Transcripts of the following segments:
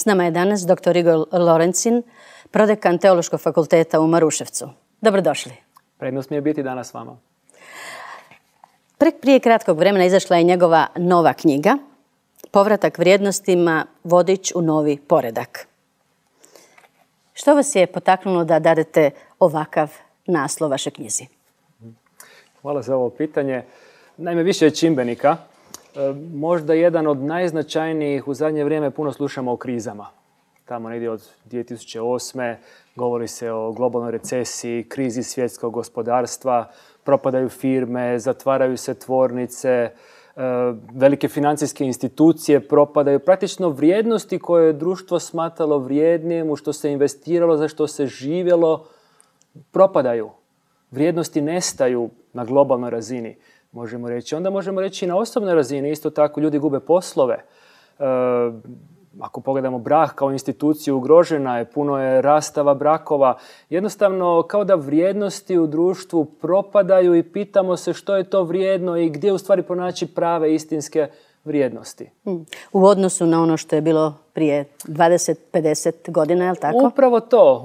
S nama je danas dr. Igor Lorencin, prodekan Teološkog fakulteta u Maruševcu. Dobrodošli. Prednost mi je biti danas s vama. Prije kratkog vremena izašla je njegova nova knjiga, Povratak vrijednostima, vodič u novi poredak. Što vas je potaknulo da dadete ovakav naslov vašoj knjizi? Hvala za ovo pitanje. Naime, više je čimbenika. Možda jedan od najznačajnijih u zadnje vrijeme puno slušamo o krizama. Tamo negdje od 2008. govori se o globalnoj recesiji, krizi svjetskog gospodarstva, propadaju firme, zatvaraju se tvornice, velike financijske institucije propadaju. Praktično vrijednosti koje je društvo smatralo vrijednim, u što se investiralo, za što se živjelo, propadaju. Vrijednosti nestaju na globalnoj razini, možemo reći. Onda možemo reći i na osobnoj razini. Isto tako ljudi gube poslove. Ako pogledamo brak kao instituciju, ugrožena je, puno je rastava brakova. Jednostavno, kao da vrijednosti u društvu propadaju i pitamo se što je to vrijedno i gdje u stvari pronaći prave istinske vrijednosti. U odnosu na ono što je bilo prije 20-50 godina, je li tako?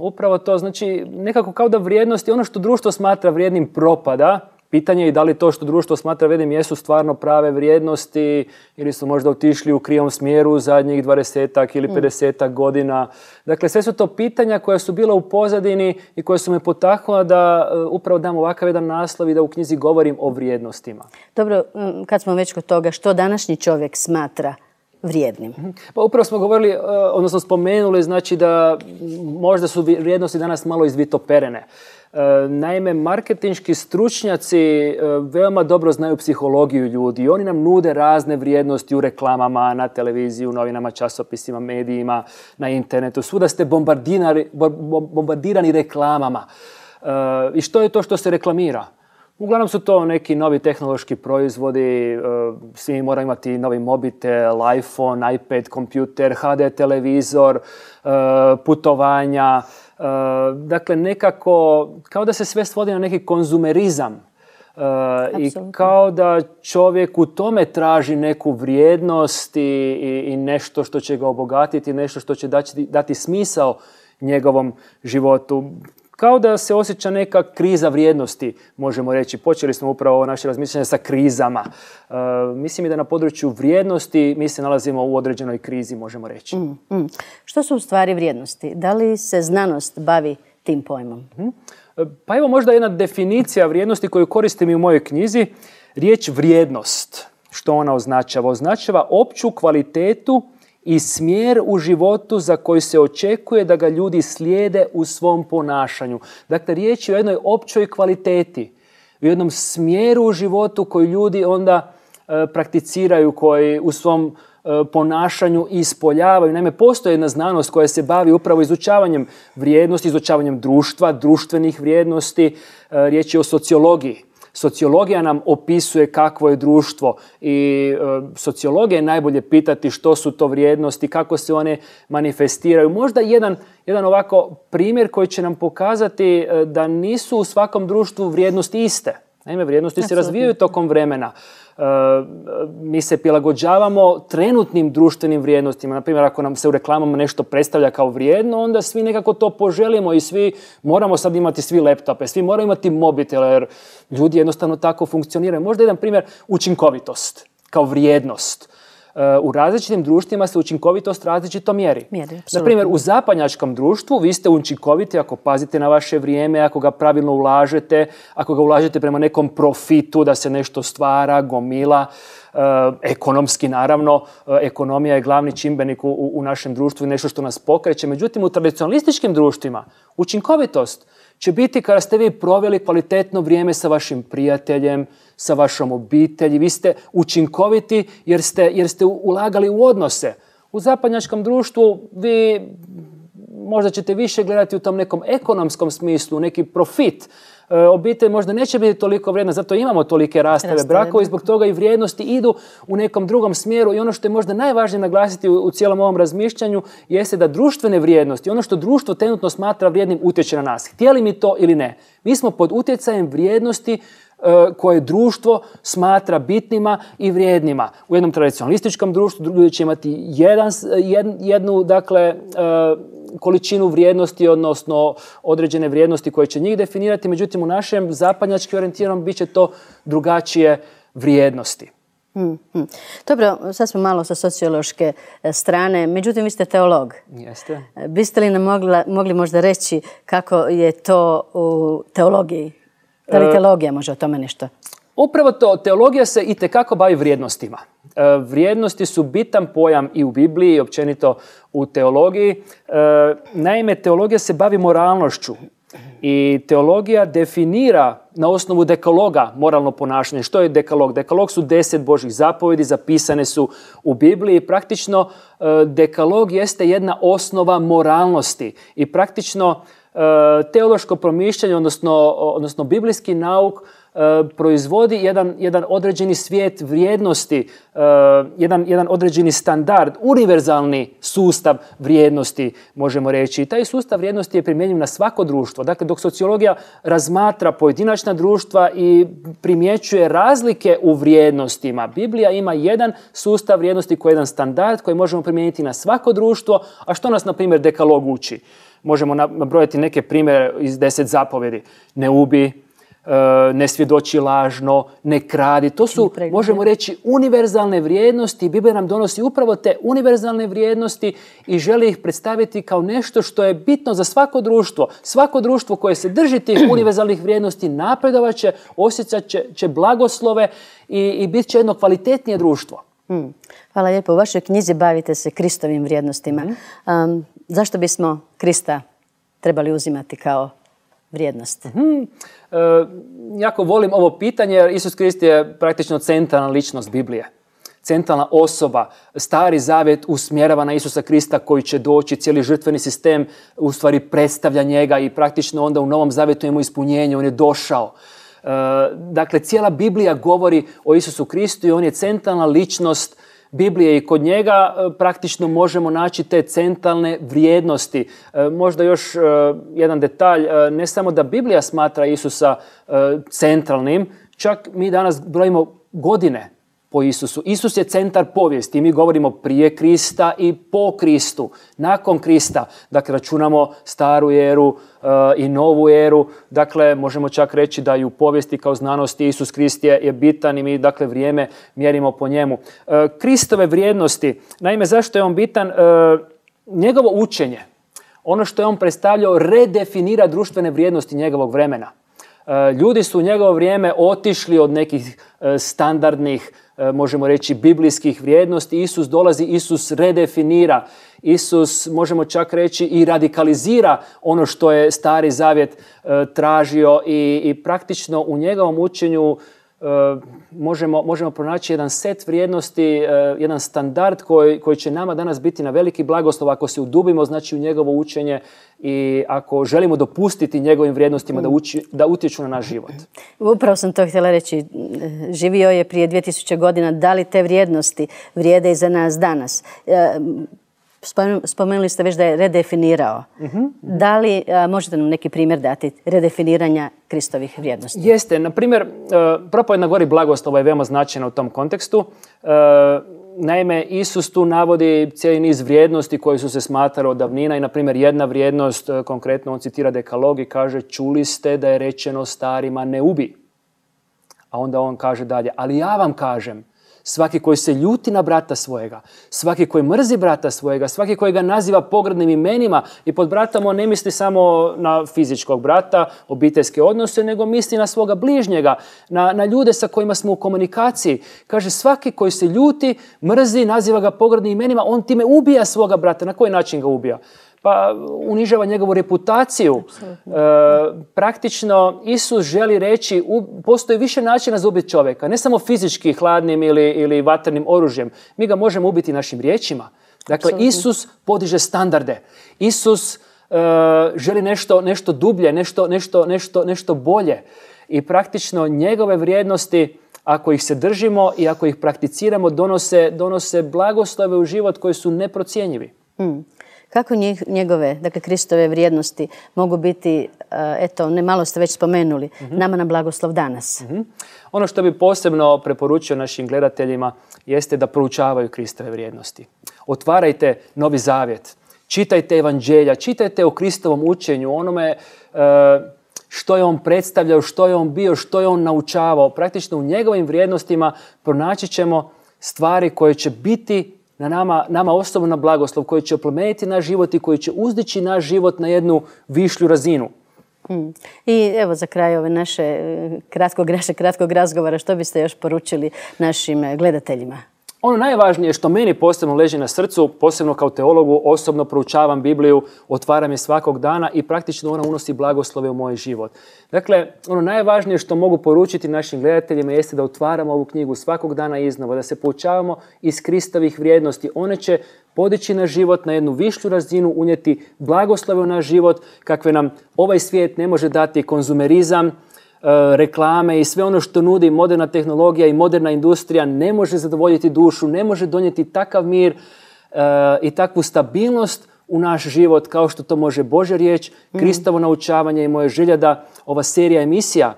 Upravo to. Znači, nekako kao da vrijednosti, ono što društvo smatra vrijednim propada. Pitanje je da li to što društvo smatra vrijednim jesu stvarno prave vrijednosti ili su možda otišli u krivom smjeru u zadnjih 20 ili 50 godina. Dakle, sve su to pitanja koja su bila u pozadini i koje su me potaknula da upravo dam ovakav jedan naslov i da u knjizi govorim o vrijednostima. Dobro, kad smo već kod toga, što današnji čovjek smatra vrijednim? Pa upravo smo govorili, odnosno spomenuli, znači da možda su vrijednosti danas malo izvitoperene. Naime, marketinški stručnjaci veoma dobro znaju psihologiju ljudi i oni nam nude razne vrijednosti u reklamama, na televiziji, u novinama, časopisima, medijima, na internetu. Svuda ste bombardirani reklamama. I što je to što se reklamira? Uglavnom su to neki novi tehnološki proizvodi, svi moraju imati novi mobitel, iPhone, iPad, kompjuter, HD televizor, putovanja. Dakle, nekako kao da se sve svodi na neki konzumerizam i kao da čovjek u tome traži neku vrijednost i nešto što će ga obogatiti, nešto što će dati smisao njegovom životu. Kao da se osjeća neka kriza vrijednosti, možemo reći. Počeli smo upravo ovo naše razmišljanje sa krizama. Mislim i da na području vrijednosti mi se nalazimo u određenoj krizi, možemo reći. Što su u stvari vrijednosti? Da li se znanost bavi tim pojmom? Pa evo možda jedna definicija vrijednosti koju koristim i u mojoj knjizi. Riječ vrijednost, što ona označava? Označava opću kvalitetu i smjer u životu za koji se očekuje da ga ljudi slijede u svom ponašanju. Dakle, riječ je o jednoj općoj kvaliteti, u jednom smjeru u životu koji ljudi onda prakticiraju, koji u svom ponašanju ispoljavaju. Naime, postoji jedna znanost koja se bavi upravo izučavanjem vrijednosti, izučavanjem društva, društvenih vrijednosti. Riječ je o sociologiji. Sociologija nam opisuje kakvo je društvo i sociologija je najbolje pitati što su to vrijednosti, kako se one manifestiraju. Možda jedan ovako primjer koji će nam pokazati da nisu u svakom društvu vrijednosti iste. Naime, vrijednosti se razvijaju tokom vremena. Mi se prilagođavamo trenutnim društvenim vrijednostima. Naprimjer, ako nam se u reklamama nešto predstavlja kao vrijedno, onda svi nekako to poželimo i svi moramo sad imati svi laptope, svi moramo imati mobitele, jer ljudi jednostavno tako funkcioniraju. Možda jedan primjer, učinkovitost kao vrijednost. U različitim društvima se učinkovitost različito mjeri. Naprimjer, u zapadnjačkom društvu vi ste učinkoviti ako pazite na vaše vrijeme, ako ga pravilno ulažete, ako ga ulažete prema nekom profitu da se nešto stvara, gomila. Ekonomski, naravno, ekonomija je glavni čimbenik u našem društvu i nešto što nas pokreće. Međutim, u tradicionalističkim društvima učinkovitost će biti kada ste vi proveli kvalitetno vrijeme sa vašim prijateljem, sa vašom obitelji. Vi ste učinkoviti jer ste ulagali u odnose. U zapadnjačkom društvu vi možda ćete više gledati u tom nekom ekonomskom smislu, neki profit. Obitelj možda neće biti toliko vrijedna, zato imamo tolike rastave brakova i zbog toga i vrijednosti idu u nekom drugom smjeru. I ono što je možda najvažnije naglasiti u cijelom ovom razmišljanju jeste da društvene vrijednosti, ono što društvo trenutno smatra vrijednim, utječe na nas. Htjeli mi to ili ne. Mi smo pod utjecajem vrijednosti koje društvo smatra bitnima i vrijednima. U jednom tradicionalističkom društvu ljudi će imati jednu dakle, količinu vrijednosti, odnosno određene vrijednosti koje će njih definirati, međutim u našem zapadnjački orijentiranom bit će to drugačije vrijednosti. Dobro, sad smo malo sa sociološke strane, međutim vi ste teolog. Jeste. Biste li nam mogli možda reći kako je to u teologiji? Da li teologija može o tome nešto? Upravo to, teologija se itekako bavi vrijednostima. Vrijednosti su bitan pojam i u Bibliji i općenito u teologiji. Naime, teologija se bavi moralnošću i teologija definira na osnovu dekaloga moralno ponašanje. Što je dekalog? Dekalog su 10 Božjih zapovjedi, zapisane su u Bibliji. Praktično dekalog jeste jedna osnova moralnosti i praktično teološko promišljanje, odnosno biblijski nauk proizvodi jedan određeni svijet vrijednosti, jedan određeni standard, univerzalni sustav vrijednosti, možemo reći. I taj sustav vrijednosti je primjenjiv na svako društvo. Dakle, dok sociologija razmatra pojedinačna društva i primjećuje razlike u vrijednostima, Biblija ima jedan sustav vrijednosti koji je jedan standard koji možemo primijeniti na svako društvo. A što nas, na primjer, dekalog uči? Možemo nabrojati neke primjere iz 10 zapovjedi. Ne ubi, ne svjedoči lažno, ne kradi. To su, možemo reći, univerzalne vrijednosti. Biblia nam donosi upravo te univerzalne vrijednosti i želi ih predstaviti kao nešto što je bitno za svako društvo. Svako društvo koje se drži tih univerzalnih vrijednosti napredovat će, osjećat će blagoslove i bit će jedno kvalitetnije društvo. Hvala lijepo. U vašoj knjizi bavite se Kristovim vrijednostima. Zašto bismo Krista trebali uzimati kao vrijednost? Jako volim ovo pitanje jer Isus Krist je praktično centralna ličnost Biblije. Centralna osoba. Stari zavjet usmjerava na Isusa Krista koji će doći. Cijeli žrtveni sistem u stvari predstavlja njega i praktično onda u Novom zavjetu imamo ispunjenje. On je došao. Dakle, cijela Biblija govori o Isusu Kristu i on je centralna ličnost Biblije i kod njega praktično možemo naći te centralne vrijednosti. Možda još jedan detalj, ne samo da Biblija smatra Isusa centralnim, čak mi danas brojimo godine po Isusu. Isus je centar povijesti. Mi govorimo prije Krista i po Kristu, nakon Krista. Dakle, računamo staru eru i novu eru. Dakle, možemo čak reći da i u povijesti kao znanosti Isus Krist je bitan i mi, dakle, vrijeme mjerimo po njemu. Kristove vrijednosti, naime, zašto je on bitan? Njegovo učenje, ono što je on predstavljao, redefinira društvene vrijednosti njegovog vremena. Ljudi su u njegovo vrijeme otišli od nekih standardnih, možemo reći, biblijskih vrijednosti. Isus dolazi, Isus redefinira. Isus, možemo čak reći, i radikalizira ono što je Stari zavjet tražio i praktično u njegovom učenju možemo pronaći jedan set vrijednosti, jedan standard koji će nama danas biti na veliki blagoslov ako se udubimo, znači, u njegovo učenje i ako želimo dopustiti njegovim vrijednostima da utječu na naš život. Upravo sam to htjela reći. Živio je prije 2000 godina. Da li te vrijednosti vrijede i za nas danas? Spomenuli ste već da je redefinirao. Da li možete nam neki primjer dati redefiniranja Kristovih vrijednosti? Jeste. Na primjer, propovjed na gori blagoslova je veoma značajna u tom kontekstu. Naime, Isus tu navodi cijeli niz vrijednosti koje su se smatrale od davnina i, na primjer, jedna vrijednost, konkretno on citira dekalog i kaže: čuli ste da je rečeno starima ne ubi. A onda on kaže dalje: ali ja vam kažem, svaki koji se ljuti na brata svojega, svaki koji mrzi brata svojega, svaki koji ga naziva pogrdnim imenima, i pod bratom on ne misli samo na fizičkog brata, obiteljske odnose, nego misli na svoga bližnjega, na ljude sa kojima smo u komunikaciji. Kaže, svaki koji se ljuti, mrzi, naziva ga pogrdnim imenima, on time ubija svoga brata. Na koji način ga ubija? Pa unižava njegovu reputaciju. Praktično Isus želi reći, postoji više načina za ubiti čovjeka, ne samo fizički hladnim ili vatrenim oružjem. Mi ga možemo ubiti našim riječima. Dakle, Isus podiže standarde. Isus želi nešto dublje, nešto bolje. I praktično njegove vrijednosti, ako ih se držimo i ako ih prakticiramo, donose blagoslove u život koji su neprocjenjivi. Kako njegove, dakle Kristove vrijednosti mogu biti, eto, malo ste već spomenuli, nama na blagoslov danas? Ono što bi posebno preporučio našim gledateljima jeste da proučavaju Kristove vrijednosti. Otvarajte Novi Zavjet, čitajte evanđelja, čitajte o Kristovom učenju, onome što je on predstavljao, što je on bio, što je on naučavao. Praktično u njegovim vrijednostima pronaći ćemo stvari koje će biti nama osobno na blagoslov, koji će oplemeniti naš život i koji će uzdići naš život na jednu višlju razinu. I evo za kraj ove naše kratkog razgovora, što biste još poručili našim gledateljima? Ono najvažnije što meni posebno leži na srcu, posebno kao teologu, osobno proučavam Bibliju, otvaram je svakog dana i praktično ona unosi blagoslove u moj život. Dakle, ono najvažnije što mogu poručiti našim gledateljima jeste da otvaramo ovu knjigu svakog dana iznova, da se poučavamo iz Kristovih vrijednosti. One će podići naš život na jednu višlju razinu, unijeti blagoslove u naš život, kakve nam ovaj svijet ne može dati konzumerizam, reklame i sve ono što nudi moderna tehnologija i moderna industrija ne može zadovoljiti dušu, ne može donijeti takav mir i takvu stabilnost u naš život kao što to može Božja riječ, Kristovo naučavanje i moja želja da ova serija emisija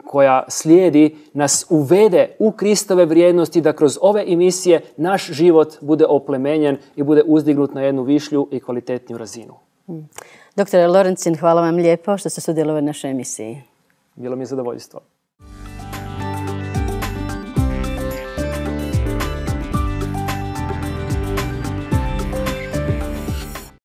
koja slijedi nas uvede u Kristove vrijednosti, da kroz ove emisije naš život bude oplemenjen i bude uzdignut na jednu višlju i kvalitetniju razinu. Doktore Lorencin, hvala vam lijepo što ste sudjelovali u našoj emisiji. Bilo mi je zadovoljstvo.